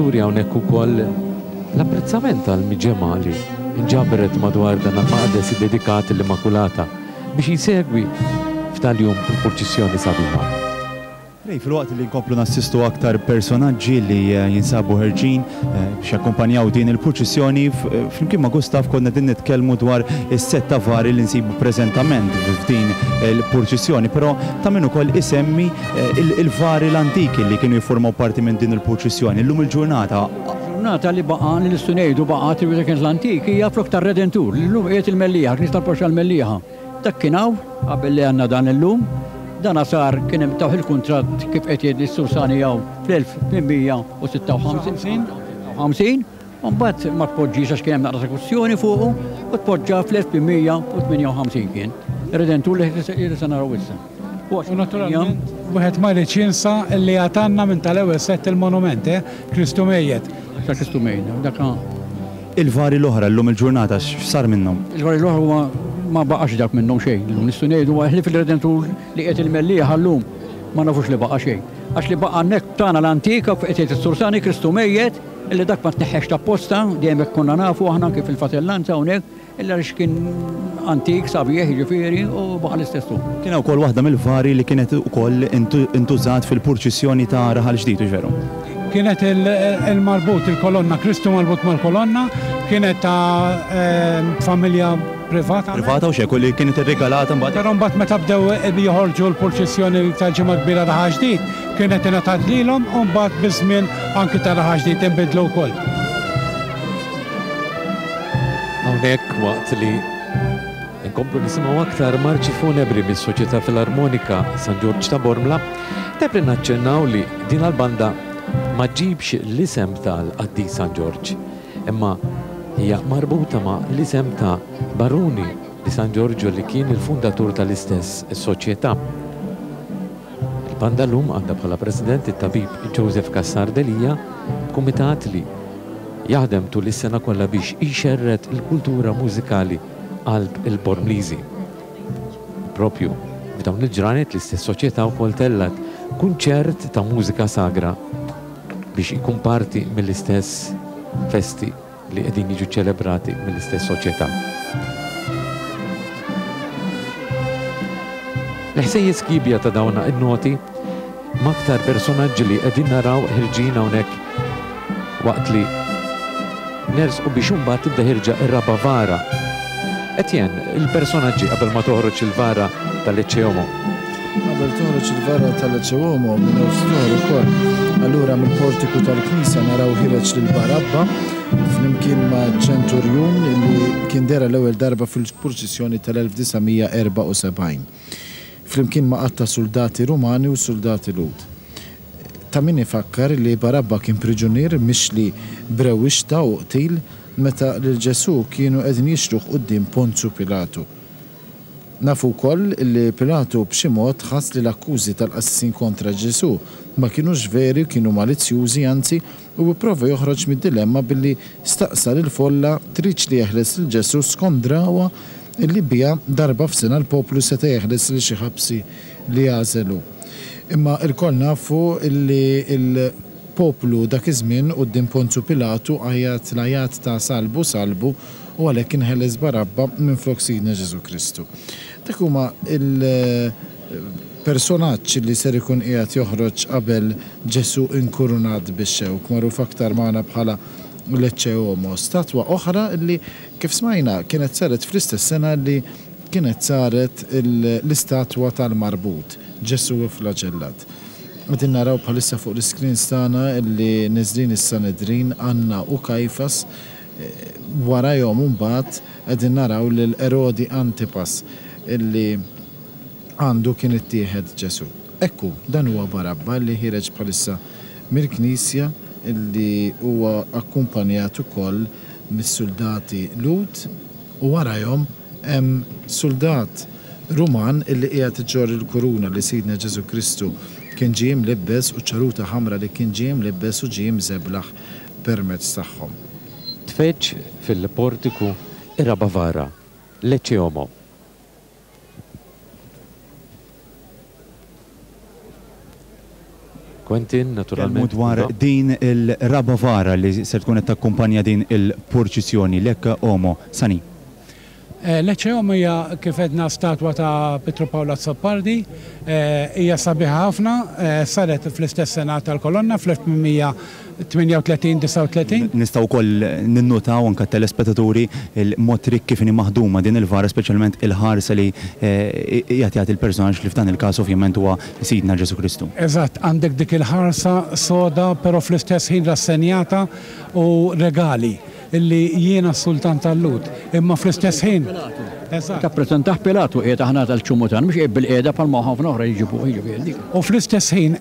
Turi hawnhekk ukoll l-apprezzament tal-miġemgħa li nġabret madwar dan il-maqdes iddedikat lill-Immakulata biex jsegwi f'tal-jum il-purċissjoni sabiħa. Ray, filwaqt li nkomplu nassistu aktar personaġġi li jinsabu ħerġin biex jakkumpanjaw din il-purċissjoni, flimkien ma' Gustav konna qegħdin nitkellmu dwar is-sett ta' vari li nsibu preżentament f'din il-purċissjoni, però ta' min ukoll isemmi il-vari l-antiki li kienu jiffurmaw parti minn din il-purċissjoni. Illum il-ġurnata. Ġurnata li baqa' li nistgħu ngħidu baqgħet li kienet l-antik hija flok tar-Redentur li llum qiegħed il-Mellieħa, Knisja tal-Parroċċa l-Mellieħa. Dak kien hawn qabel li għandna dan illum. Dana sar kien hemm tawh il-kuntratt kif qed jgħid is-Sur Sani hawn fl-1856. U mbagħad ma tpoġġiex għax kien hemm naqra esekuzzjoni fuqu u tpoġġa fl-1858 kien. Ir-Redentur li se naraw issa. U naturalment wieħed ma jridx jinsa li għad għandna minn tal-ewwel sett il-monument, eh, Kristu mejjet. Ta' Kristu mejjet, dak Il-vari l-oħra llum il-ġurnata x'sar minnhom? Il-vari l-oħra huma ma baqax dak minnhom xejn. Illum nistgħu ngħidu ħlief il-Redentur li qiegħed il-Mellieħa llum ma nafux li baqa' xejn. Għax li baqa' hemmhekk tagħna l-antika qed jgħid is-Sur Sani Kristu mejjet, Illi dak ma tneħħex t'apposta, dejjem hekk konna nafu aħna anki fil-fratellanza hawnhekk, illi għaliex kien antik, sabiħ, jiġifieri, u baqa' l-istess hu. Kien ukoll waħda mill-vari li kienet ukoll intużat fil-purċissjoni ta' Raħal Ġdid, hux veru? Kienet il-marbut, il-kolonna, Kristu marbut mal-kolonna, kienet ta' familja privata. Privata u x'hekk, u li kienet irrigalata mbagħad. Però mbagħad meta bdew joħorġu l-purċissjoni tal-Ġimgħa Kbira Raħal Ġdid, Kienet ingħatat lilhom u mbagħad biż-żmien anki ta' Raħal Ġdid inbidlu wkoll. Hawnhekk waqt li nkomplu nisimgħu aktar marċi funebri mis-Soċjetà Filarmonika San Ġorġ ta' Bormla, tajjeb li naċċennaw li din l-banda ma ġġibx l-isem tal-qaddis San Ġorġ, imma hija marbuta ma' l-isem ta' Baruni di San Giorgio li kien il-fundatur tal-istess soċjetà. Il-banda llum għandha bħala President it-Tabib Joseph Cassar Delia, b'kumitat li jaħdem tul is-sena kollha biex jxerred il-kultura mużikali qalb il-Bormliżi. Propju f'dawn il-ġranet l-istess soċjetà wkoll tellgħet kunċert ta' mużika sagra biex ikun parti mill-istess festi li qegħdin jiġu ċċelebrati mill-istess soċjetà. L-ħsejjes kiebja ta' dawn in-noti m'aktar personaġġi li qegħdin naraw ħirġin hawnhekk waqt li nersqu biex imbagħad tibda ħirġa r-raba' vara. Etienne, il-personaġġi qabel ma toħroġ il-vara tal-Ecce Homo. Qabel toħroġ il-vara tal-Ecce Homo minn ftit oħra ukoll, allura mill-portiku tal-knisja naraw ħireġ lil Barabba flimkien ma' ċenturjun li kien dehra l-ewwel darba fil-purċissjoni tal-1974, flimkien ma' għadd ta' suldati Rumani u suldati Lhud. Ta' min ifakkar li Barabba kien priġunier mixli b'rewwixta u qtil meta lil Ġesù kienu qegħdin jixtruh quddiem Ponzu Pilatu. Nafu wkoll li Pilatu b'xi mod ħass li l-akkużi tal-qassisin kontra Ġesù ma kinux veri u kienu malizzjużi, anzi, u pprova joħroġ mid-dilemma billi staqsa lill-folla tridx li jeħles lil Ġesù skont drawwa li biha darba f'sena l-poplu seta' jeħles lil xi ħabsi li jagħżel hu. Imma lkoll nafu li l-poplu dak iż-żmien quddiem Ponzu Pilatu għajjat l-għajat ta' Salbu, salbu, u għalhekk inħeles Barabba minflok Sidna Ġesù Kristu. Dak huma l-personaġġ li ser ikun qiegħed joħroġ qabel Ġesù inkurunat bix-xewk, magħruf aktar magħna bħala l-Ecce Homo, statwa oħra li kif smajna kienet saret fl-istess sena li kienet saret l-istatwa tal-marbut, Ġesù ifflaġellat. Qegħdin naraw bħalissa fuq l-iscreens tagħna li neżlin is-Sanedrin, Anna u Kajfas, Warajhom imbagħad qegħdin naraw lil Erodi Antipas illi għandu kien ittieħed Ġesù. Hekk hu, dan huwa Barabba li ħiereġ bħalissa mill-knisja illi huwa akkumpanjat ukoll mis-suldati Lhud u warajhom hemm suldat Ruman illi qiegħed iġorr il-kuruna li Sidna Ġesù Kristu kien ġie imlibbes u ċ-ċaruta ħamra li kien ġie imlibbes u ġie imżeblaħ permezz tagħhom. Tfeġġ fil-portiku ir-raba' vara, l-Ecce Homo. Quentin, naturalment. Tkellmu dwar din il-raba' vara li ser tkun qed takkumpanja din il-purċissjoni, l-Ecce Homo. Sani. L-Ecce Homo hija kif għedna statwa ta' Pietru Pawl Azzopardi. Hija sabiħa ħafna, saret fl-istess sena tal-kolonna fl-1838, 39. Nistgħu wkoll ninnutaw anke t-telespettaturi il-mod rikk kif inhi maħduma din il-vara speċjalment il-ħarsa li qiegħed jagħti l-personaġġ li f'dan il-każ ovvjament huwa Sidna Ġesù Kristu. Eżatt, għandek dik il-ħarsa soda però fl-istess ħin rassenjata u regali illi jiena s-sultan tal-Lhud, imma fl-istess ħin. Eżatt. Tappreżentah Pilatu qiegħed aħna tal-ċummu tagħna, mhux qiegħed bilqiegħda bħalma ħafna oħra jġibuh, jiġifieri. U fl-istess ħin.